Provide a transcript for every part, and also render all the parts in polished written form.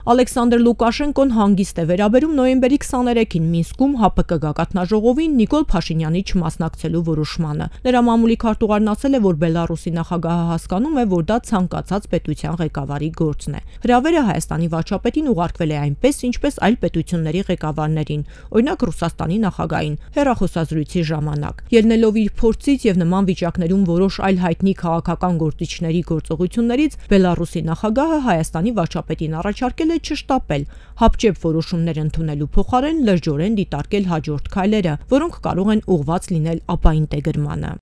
Ալեքսանդր Լուկաշենկոն հանգիստ է վերաբերում նոյեմբերի 23-ին Մինսկում ՀԱՊԿ գագաթնաժողովին Նիկոլ Փաշինյանի չմասնակցելու որոշմանը։ Նրա մամուլի քարտուղարն ասել է, որ Բելարուսի նախագահը հասկանում է, որ դա ցանկացած պետության ղեկավարի գործն է։ Հրավերը Հայաստանի վարչապետին ուղարկվել է այնպես, ինչպես այլ պետությունների ղեկավարներին, օրինակ Ռուսաստանի նախագահին, հեռախոսազրույցի ժամանակ։ Ելնելով իր փորձից եւ նման վիճակներում որոշ այլ հայտնի քաղաքական գործիչների գործողություններից, Բելարուսի նախագահը Հայաստանի վարչապետին առաջարկել է չշտապել, հապճեպ որոշումներ ընդունելու փոխարեն լրջորեն դիտարկել հաջորդ քայլերը, որոնք կարող են ուղղված լինել ապաինտեգրմանը։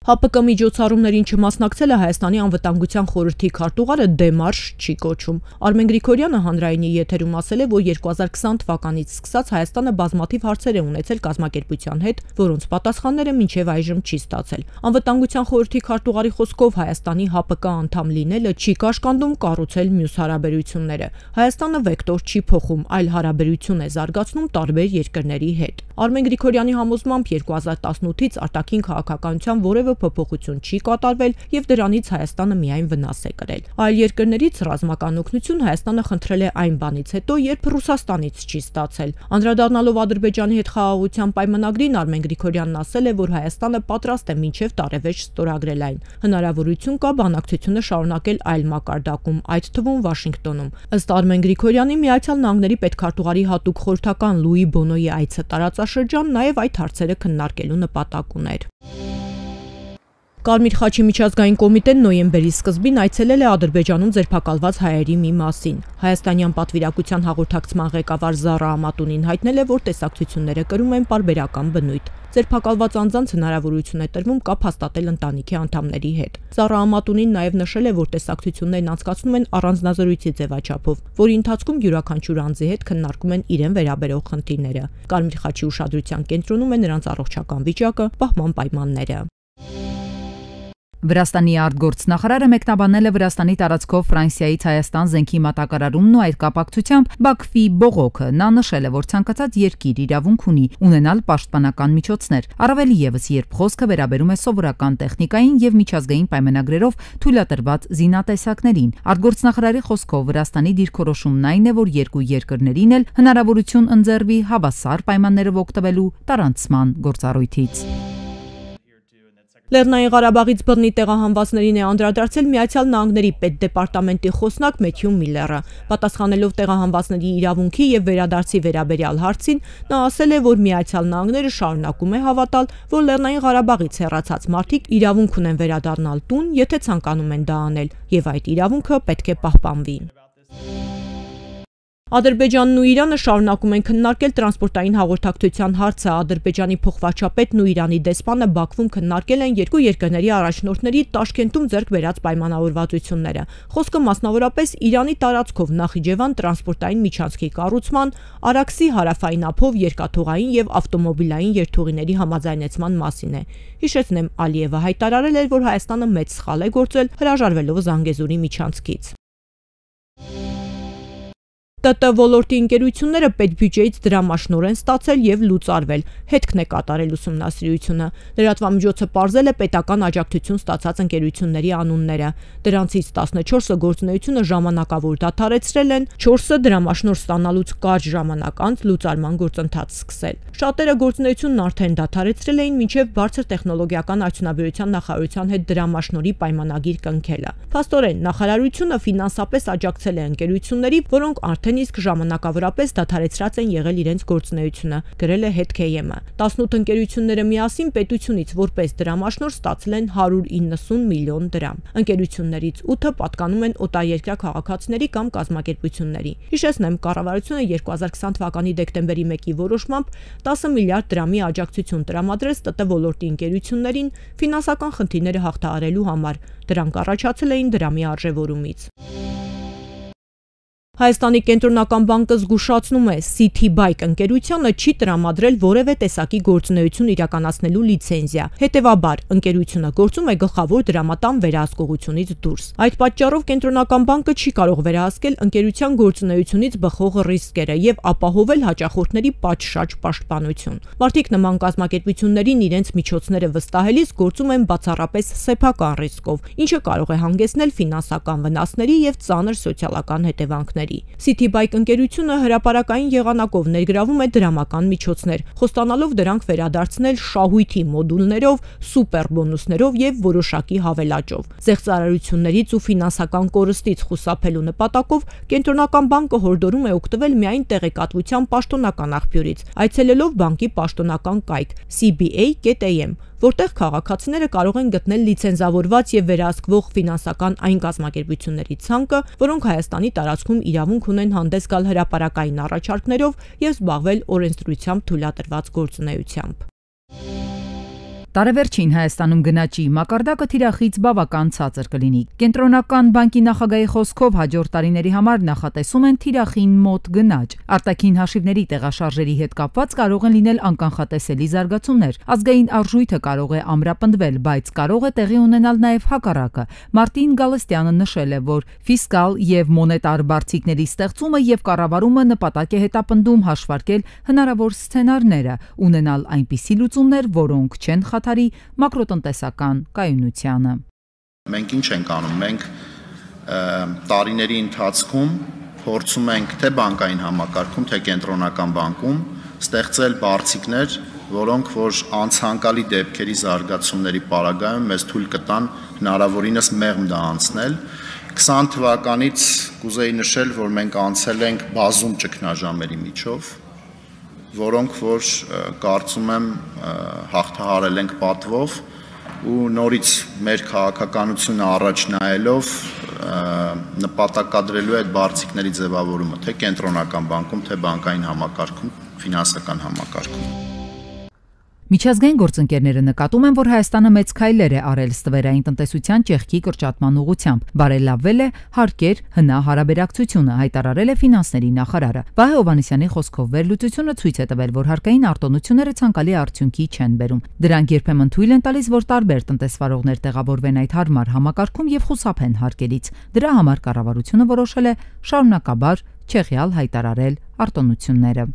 ՀԱՊԿ միջոցառումներին չմասնակցելը Հայաստանի անվտանգության խորհրդի քարտուղարը դեմարշ չի կոչում։ Արմեն Գրիգորյանը հանրայինի եթերում ասել է, որ 2020 թվականից սկսած Հայաստանը բազմաթիվ հարցեր է ունեցել կազմակերպության հետ, որոնց պատասխանները մինչև այժմ չի ստացել։ Անվտանգության խորհրդի քարտուղարի խոսքով Հայաստանի ՀԱՊԿ անդամ լինելը չի կաշկանդում կառուցել մյուս հարաբերությունները։ Հայաստանը վեկտոր չի փոխում, այլ հարաբերություն է զարգացնում տարբեր երկրների հետ։ Արմեն Գրիգորյանի համոզմամբ 2018-ից արտաքին քաղաքականության որևէ փոփոխություն չի կատարվել եւ դրանից Հայաստանը միայն վնաս է կրել։ Այլ երկրներից ռազմական օգնություն Հայաստանը խնդրել է այն բանից հետո, երբ Ռուսաստանից չի ստացել։ Անդրադառնալով Ադրբեջանի հետ խաղաղության պայմանագրին, Արմեն Գրիգորյանն ասել է, որ Հայաստանը պատրաստ է մինչև տարեվերջ ստորագրել այն։ Հնարավորություն կա բանակցությունը շարունակել այլ մակարդակում, այդ թվում Վաշինգտոնում։ Ըստ Արմեն Գրիգորյանի, Միացյալ Նահանգների պետքարտուղարի հատուկ խորհրդական Լուի Բոնոյի այցը տարածաշրջան նաև այդ հարցերը քննարկելու նպատակ ուներ։ Կարմիր խաչի միջազգային կոմիտեն նոյեմբերի սկզբին այցելել է Ադրբեջանում ձերբակալված հայերի մի մասին։ Հայաստանյան պատվիրակության հաղորդակցման ղեկավար Զառա Ամատունին հայտնել է, որ տեսակցությունները կրում են պարբերական բնույթ։ Ձերբակալված անձանց հնարավորություն է տրվում կապ հաստատել ընտանիքի անդամների հետ։ Զառա Ամատունին նաև նշել է, որ տեսակցություններն անցկացնում են առանձնազրույցի ձևաչափով, որի ընթացքում յուրաքանչյուր անձի հետ քննարկում են իրեն վերաբերող խնդիրները։ Կարմիր խաչի ուշադրության կենտրոնում է նրանց առողջական վիճակը, պահման պայմանները։ Վրաստանի արտգործնախարարը մեկնաբանել է Վրաստանի տարածքով Ֆրանսիայից Հայաստան զենքի մատակարարումն ու այդ կապակցությամբ Բաքվի բողոքը։ Նա նշել է, որ ցանկացած երկիր իրավունք ունի ունենալ պաշտպանական միջոցներ, առավել ևս երբ խոսքը վերաբերում է սովորական տեխնիկային եւ միջազգային պայմանագրերով թույլատրված զինատեսակներին։ Արտգործնախարարի խոսքով Վրաստանի դիրքորոշումն այն է, որ երկու երկրներին էլ հնարավորություն ընձեռվի հավասար պայմաններով օգտվելու տարանցման գործառույթից։ Լեռնային Ղարաբաղից բռնի տեղահանվածներին է անդրադարձել Միացյալ Նահանգների պետդեպարտամենտի խոսնակ Մեթյու Միլլերը։ Պատասխանելով տեղահանվածների իրավունքի եւ վերադարձի վերաբերյալ հարցին, նա ասել է, որ Միացյալ Նահանգները շարունակում է հավատալ, որ Լեռնային Ղարաբաղից հեռացած մարդիկ իրավունք ունեն վերադառնալ տուն, եթե ցանկանում են դա անել, եւ այդ իրավունքը պետք է պահպանվի։ Ադրբեջանն ու Իրանը շարունակում են քննարկել տրանսպորտային հաղորդակցության հարցը։ Ադրբեջանի փոխվարչապետն ու Իրանի դեսպանը Բաքվում քննարկել են երկու երկրների առաջնորդների Տաշկենտում ձեռք բերած պայմանավորվածությունները։ Խոսքը մասնավորապես Իրանի տարածքով Նախիջևան տրանսպորտային միջանցքի կառուցման, Արաքսի հարավային ափով երկաթուղային եւ ավտոմոբիլային երթուղիների համաձայնեցման մասին է։ Հիշեցնեմ, Ալիևը հայտարարել էր, որ Հայաստանը մեծ սխալ է գործել հրաժարվելով Զանգեզուրի միջանցքից։ ՏՏ ոլորտի ընկերությունները պետբյուջեից դրամաշնոր են ստացել եւ լուծարվել, հետքն է կատարել ուսումնասիրությունը։ Լրատվամիջոցը պարզել է պետական աջակցություն ստացած ընկերությունների անունները։ Դրանցից 14-ը գործունեությունը ժամանակավոր դադարեցրել են, 4-ը դրամաշնոր ստանալուց կարճ ժամանակ անց լուծարման գործընթաց սկսել։ Շատերը գործունեությունն արդեն դադարեցրել էին մինչև բարձր տեխնոլոգիական արդյունաբերության նախարարության հետ դրամաշնորի պայմանագիր կնքելը։ Փաստորեն, նախարարությունը ֆինանսապես աջակցել է ընկերությունների, որոնք արդեն իսկ ժամանակավորապես դադարեցրած են եղել իրենց գործունեությունը, գրել է HETKM-ը։ 18 ընկերությունները միասին պետությունից որպես դրամաշնոր ստացել են 190 միլիոն դրամ։ Ընկերություններից 8-ը պատկանում են օտարերկրյա քաղաքացիների կամ կազմակերպությունների։ Հիշեցնեմ, կառավարությունը 2020 թվականի դեկտեմբերի 1-ի որոշմամբ 10 միլիարդ դրամի աջակցություն տրամադրեց ՏՏ ոլորտի ընկերություններին ֆինանսական խնդիրները հաղթահարելու համար։ Դրանք առաջացել էին դրամի արժևորումից։ Հայաստանի կենտրոնական բանկը զգուշացնում է, Citibank ընկերությանը չի տրամադրել որևէ տեսակի գործունեություն իրականացնելու լիցենզիա։ Հետևաբար, ընկերությունը գործում է գլխավոր դրամատան վերահսկողությունից դուրս։ Այդ պատճառով կենտրոնական բանկը չի կարող վերահսկել ընկերության գործունեությունից բխող ռիսկերը եւ ապահովել հաճախորդների պատշաճ պաշտպանություն։ Մարդիկ նման կազմակերպություններին իրենց միջոցները վստահելիս գործում են բացառապես սեփական ռիսկով, ինչը կարող է հանգեցնել ֆինանսական վնասների եւ ծանր սոցիալական հետևանքների։ Citibank ընկերությունը հրապարակային եղանակով ներգրավում է դրամական միջոցներ, խոստանալով դրանք վերադարձնել շահույթի մոդուլներով, սուպեր բոնուսներով եւ որոշակի հավելաճով։ Զեղծարարություններից ու ֆինանսական կորստից խուսափելու նպատակով կենտրոնական բանկը հորդորում է օգտվել միայն տեղեկատվության պաշտոնական աղբյուրից, այցելելով բանկի պաշտոնական կայք cba.am, որտեղ քաղաքացիները կարող են գտնել լիցենզավորված եւ վերահսկվող ֆինանսական այն կազմակերպությունների ցանկը, որոնք Հայաստանի տարածքում իրավունք ունեն հանդես գալ հրապարակային առաջարկներով եւ զբաղվել օրենսդրությամբ թույլատրված գործունեությամբ։ Տարեվերջին Հայաստանում գնաճի մակարդակը թիրախից բավական ցածր կլինի։ Կենտրոնական բանկի նախագահի խոսքով հաջորդ տարիների համար նախատեսում են թիրախին մոտ գնաճ։ Արտաքին հաշիվների տեղաշարժերի հետ կապված կարող են լինել անկանխատեսելի զարգացումներ։ Ազգային արժույթը կարող է ամրապնդվել, բայց կարող է տեղի ունենալ նաև հակառակը։ Մարտին Գալստյանը նշել է, որ ֆիսկալ եւ մոնետար բարձիկների ստեղծումը եւ կառավարումը նպատակ է հետապնդում հաշվարկել հնարավոր սցենարները, ունենալ այնպիսի լուծումներ, որոնք չեն մակրոտնտեսական կայունությանը։ Մենք ինչ ենք անում, մենք տարիների ընթացքում փորձում ենք թե բանկային համակարգում, թե կենտրոնական բանկում ստեղծել բարձիկներ, որոնք որ անցանկալի դեպքերի զարգացումների պարագայում մեզ թույլ կտան հնարավորինս մեղմ դա անցնել։ 20 թվականից կուզեի նշել, որ մենք անցել ենք բազում ճգնաժամերի միջով, որոնք որ կարծում եմ հաղթահարել ենք պատվով ու նորից մեր քաղաքականությունը առաջ նայելով նպատակադրելու է այդ բարձիկների ձևավորումը թե կենտրոնական բանկում, թե բանկային համակարգում, ֆինանսական համակարգում։ Միջազգային գործընկերները նկատում են, որ Հայաստանը մեծ քայլեր է արել ստվերային տնտեսության ճեղքի կրճատման ուղղությամբ, բարելավվել է հարկեր հնա հարաբերակցությունը, հայտարարել է ֆինանսների նախարարը։ Վահե Հովհաննիսյանի խոսքով վերլուծությունը ցույց է տվել, որ հարկային արտոնությունները ցանկալի արդյունքի չեն բերում։ Դրանք երբեմն թույլ են տալիս, որ տարբեր տնտեսվարողներ տեղավորվեն այդ հարմար համակարգում եւ խուսափեն հարկերից։ Դրա համար կառավարությունը որոշել է շարունակաբար չեղյալ հայտարարել արտոնությունները։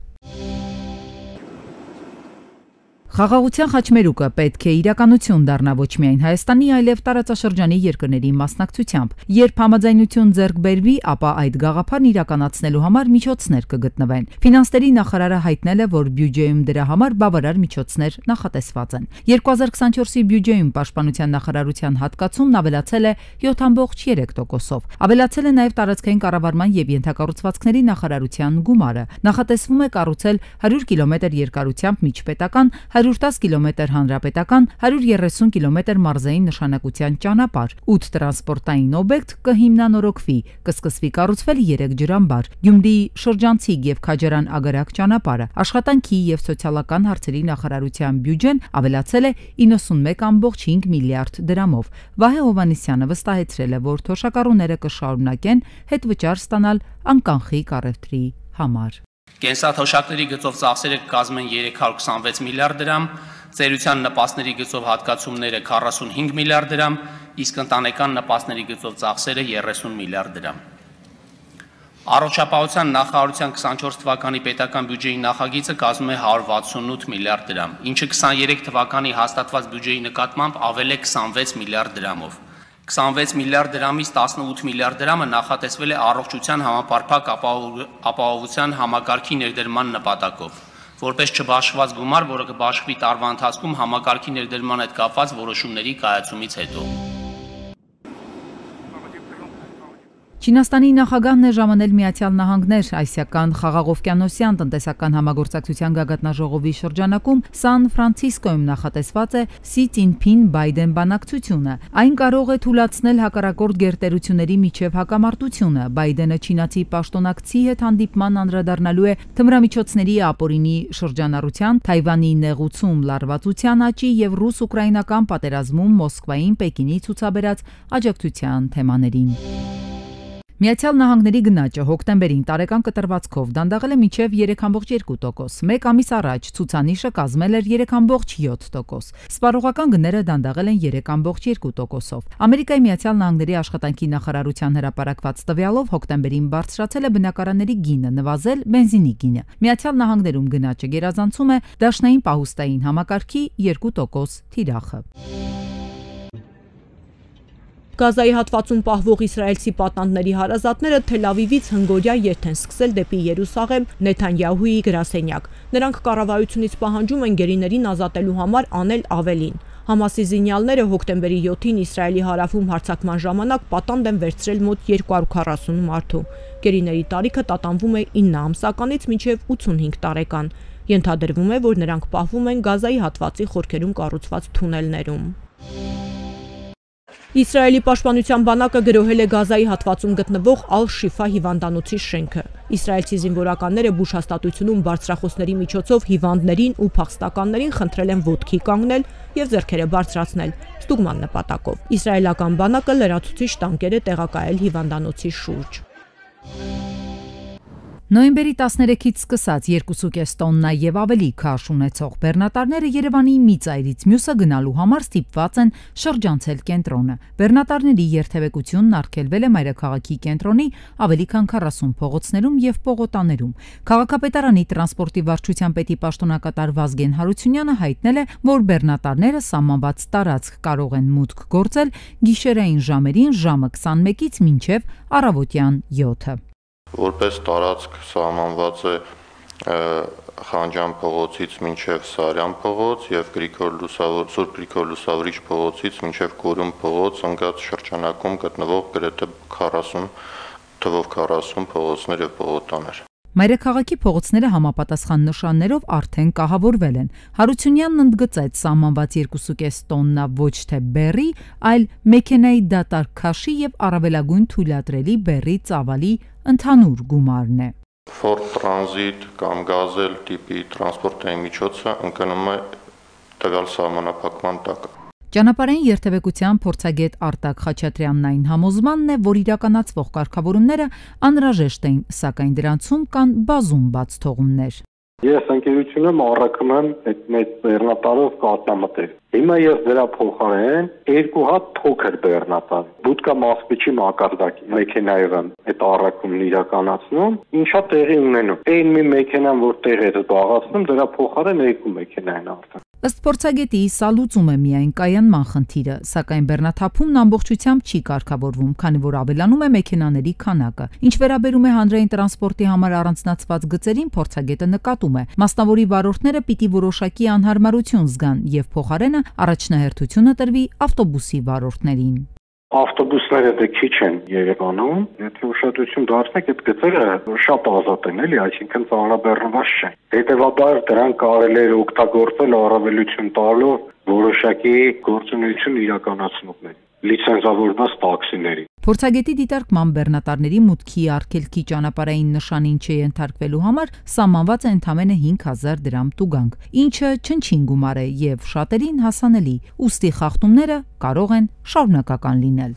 Խաղաղության խաչմերուկը պետք է իրականություն դառնա ոչ միայն Հայաստանի, այլև տարածաշրջանի երկրների մասնակցությամբ։ Երբ համաձայնություն ձեռք բերվի, ապա այդ գաղափարն իրականացնելու համար միջոցներ կգտնվեն։ Ֆինանսների նախարարը հայտնել է, որ բյուջեում դրա համար բավարար միջոցներ նախատեսված են։ 2024-ի բյուջեում պաշտպանության նախարարության հատկացումն ավելացել է 7.3%-ով։ Ավելացել է նաև տարածքային կառավարման եւ ենթակառուցվածքների նախարարության գումարը։ Նախատեսվում է կառուցել 100 կիլոմետր երկարությամբ միջպետական 110 կիլոմետր հանրապետական, 130 կիլոմետր մարզային նշանակության ճանապարհ, 8 տրանսպորտային օբյեկտ կհիմնանորոգվի, կսկսվի կառուցվել 3 ջրամբար, Գյումրիի շրջանցիկ եւ Քաջարան ագարակ ճանապարհը, աշխատանքի եւ սոցիալական հարցերի նախարարության բյուջեն ավելացել է 91.5 միլիարդ դրամով։ Վահե Հովհաննիսյանը վստահեցրել է, որ թոշակառուները կշարունակեն հետվճար ստանալ անկանխիկ առևտրի համար։ Կենսաթոշակների գծով ծախսերը կկազմեն 326 միլիարդ դրամ, ծերության նպաստների գծով հատկացումները 45 միլիարդ դրամ, իսկ ընտանեկան նպաստների գծով ծախսերը 30 միլիարդ դրամ։ Առողջապահության նախարարության 24 թվականի պետական բյուջեի նախագիծը կազմում է 168 միլիարդ դրամ, ինչը 23 թվականի հաստատված բյուջեի նկատմամբ ավել է 26 միլիարդ դրամով։ 26 միլիարդ դրամից 18 միլիարդ դրամը նախատեսվել է առողջության համապարփակ ապահովության համակարգի ներդրման նպատակով, որպես չբաշխված գումար, որը կբաշխվի տարվա ընթացքում համակարգի ներդրման հետ կապված որոշումների կայացումից հետո։ Չինաստանի նախագահն է ժամանել Միացյալ Նահանգներ ասիական խաղաղօվկիանոսյան տնտեսական համագործակցության գագաթնաժողովի շրջանակում Սան Ֆրանցիսկոյում նախատեսված է Սի Ցինփին-Բայդեն բանակցությունը։ Այն կարող է թույլատրել հակառակորդ գերտերությունների միջև հակամարտությունը։ Բայդենը չինացի պաշտոնակցի հետ հանդիպման անդրադառնալու է թմրամիջոցների ապօրինի շրջանառության, Թայվանի նեղուցում լարվածության աճի եւ ռուս-ուկրաինական պատերազմում Մոսկվային Պեկինի ցուցաբերած աջակցության թեմաներին։ Միացյալ Նահանգների գնաճը հոկտեմբերին տարեկան կտրվածքով դանդաղել է մինչև 3.2%, մեկ ամիս առաջ ցուցանիշը կազմել էր 3.7%, սպառողական գները դանդաղել են 3.2%-ով։ Ամերիկայի Միացյալ Նահանգների աշխատանքի նախարարության հրապարակված տվյալով հոկտեմբերին բարձրացել է բնակարանների գինը, նվազել բենզինի գինը։ Միացյալ Նահանգներում գնաճը գերազանցում է դաշնային պահուստային համակարգի 2% թիրախը։ Գազայի հատվածում պահվող իսրայելցի պատանդների հարազատները Թել Ավիվից հնգօրյա երթ են սկսել դեպի Երուսաղեմ Նեթանյահուի գրասենյակ։ Նրանք կառավարությունից պահանջում են գերիներին ազատելու համար անել ավելին։ Համասի զինյալները հոկտեմբերի 7-ին Իսրայելի հարավում հարձակման ժամանակ պատանդ են վերցրել մոտ 240 մարդու։ Գերիների տարիքը տատանվում է 9 ամսականից մինչև 85 տարեկան։ Ենթադրվում է, որ նրանք պահվում են Գազայի հատվածի խորքերում կառուցված թունելներում։ Իսրայելի պաշտպանության բանակը գրոհել է Գազայի հատվածում գտնվող Ալ-Շիֆա հիվանդանոցի շենքը։ Իսրայելցի զինվորականները բուժհաստատությունում բարձրախոսների միջոցով հիվանդներին ու փախստականներին խնդրել են ոտքի կանգնել եւ ձեռքերը բարձրացնել ստուգման նպատակով։ Իսրայելական բանակը լրացուցիչ տանկեր է տեղակայել հիվանդանոցի շուրջ։ Նոյեմբերի 13-ից սկսած 2.5 տոննա եւ ավելի քաշ ունեցող բեռնատարները Երևանի մի ծայրից մյուսը գնալու համար ստիպված են շրջանցել կենտրոնը։ Բեռնատարների երթևեկությունն արգելվել է մայրաքաղաքի կենտրոնի ավելի քան 40 փողոցներում եւ պողոտաներում։ Քաղաքապետարանի տրանսպորտի վարչության պետի պաշտոնակատար Վազգեն Հարությունյանը հայտնել է, որ բեռնատարները սահմանված տարածք կարող են մուտք գործել գիշերային ժամերին ժամը 21-ից մինչև առավոտյան 7-ը։ Որպես տարածք սահմանված է Խանջան փողոցից մինչև Սարյան փողոց եւ Սուրբ Գրիգոր Լուսավորիչ փողոցից մինչև Կորյուն փողոց ընկած շրջանակում գտնվող գրեթե 40 փողոցներ եւ պողոտաներ։ Մայրաքաղաքի փողոցները համապատասխան նշաններով արդեն կահավորվել են։ Հարությունյանն ընդգծեց սահմանված 2.5 տոննա ոչ թե բեռի, այլ մեքենայի դատարկ քաշի եւ առավելագույն թույլատրելի բեռի ծավալի ընդհանուր գումարն է։ Ford Transit կամ Gazelle տիպի տրանսպորտային միջոցը ընկնում է տվյալ սահմանափակման տակ։ Ճանապարհային երթևեկության փորձագետ Արտակ Խաչատրյանն այն համոզմանն է, որ իրականացվող կարգավորումները անհրաժեշտ են, սակայն դրանցում կան բազում բաց թողումներ։ Ես ընկերությունում առաքում եմ այդ մեծ բեռնատարով կատնամտել։ Հիմա ես դրա փոխարեն 2 հատ փոքր բեռնատար բուտկա մասպիչի մակարդակի մեքենայով եմ այդ առաքումն իրականացնում, ինչա տեղի ունենում։ Այն մի մեքենան, որ տեղ է զբաղացնում, դրա փոխարեն 2 մեքենա են արդեն։ Ըստ փորձագետի, սա լուծում է միայն կայանման խնդիրը, սակայն բեռնաթափումն ամբողջությամբ չի կարգավորվում, քանի որ ավելանում է մեքենաների քանակը։ Ինչ վերաբերում է հանրային տրանսպորտի համար առանձնացված գծերին, փորձագետը նկատում է, մասնավորի վարորդները պիտի որոշակի անհարմարություն զգան եւ փոխարենը առաջնահերթությունը տրվի ավտոբուսի վարորդներին։ Ավտոբուսները դե քիչ են Երևանում, եթե ուշադրություն դարձնեք, այդ գծերը շատ ազատ են, էլի, այսինքն ծանրաբեռնված չեն։ Հետևաբար դրանք կարելի է օգտագործել առավելություն տալով որոշակի գործունեություն իրականացնողների, լիցենզավորված տաքսիների։ Փորձագետի դիտարկման բեռնատարների մուտքի արգելքի ճանապարհային նշանին չենթարկվելու համար սահմանված է ընդամենը 5000 դրամ տուգանք, ինչը չնչին գումար է եւ շատերին հասանելի, ուստի խախտումները կարող են շարունակական լինել։